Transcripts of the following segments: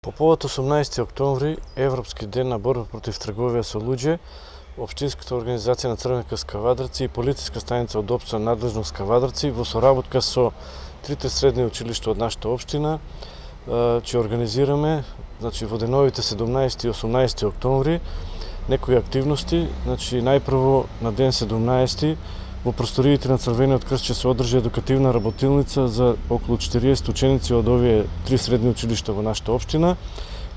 По повод 18 октомври, Европски ден на борба против трговија со луѓе, Општинската организација на Црвен крст Кавадарци и полициска станица од општа надлежност Кавадарци во соработка со трите средни училишта од нашата општина ќе организираме, во деновите 17 и 18 октомври некои активности. Најпрво на ден 17 во просториите на Црвениот крст ќе се одржи едукативна работилница за околу 40 ученици од овие три средни училишта во нашата општина,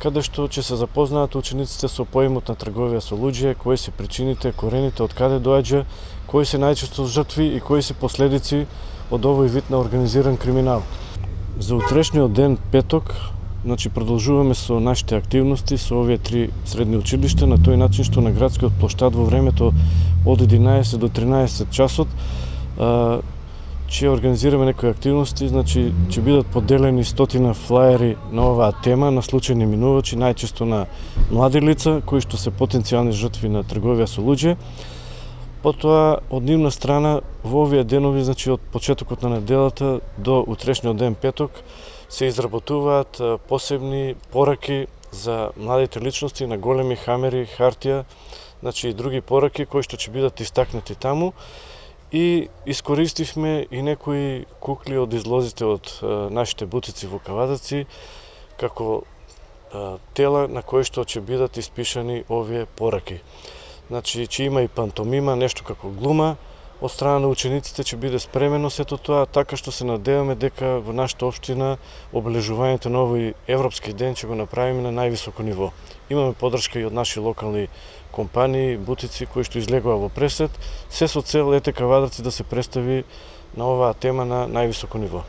каде што ќе се запознаат учениците со поимот на трговија со луѓе, кои се причините, корените, од каде доаѓа, кои се најчесто жртви и кои се последици од овој вид на организиран криминал. За утрешниот ден, петок, продолжуваме со нашите активности со овие три средни училишта на тој начин што на градскиот плоштад во времето од 11 до 13 часот ќе организираме некои активности, ќе бидат поделени 100 флаери на оваа тема на случајни минувачи, најчесто на млади лица кои што се потенцијални жртви на трговија со луѓе. Потоа, од нивна страна, во овие денови, од почетокот на неделата до утрешниот ден петок, се изработуваат посебни пораки за младите личности на големи хамери, хартија, и други пораки кои што ќе бидат истакнати таму. И искористивме и некои кукли од излозите од нашите бутици во Кавадарци, како тела на кои што ќе бидат испишани овие пораки. Ќе има и пантомима, нешто како глума, од страна на учениците ќе биде спремено сето тоа, така што се надеваме дека во нашата општина обележувањето на овој Европски ден ќе го направиме на највисоко ниво. Имаме поддршка и од наши локални компании, бутици кои што излегува во пресет, се со цел Кавадарци да се представи на оваа тема на највисоко ниво.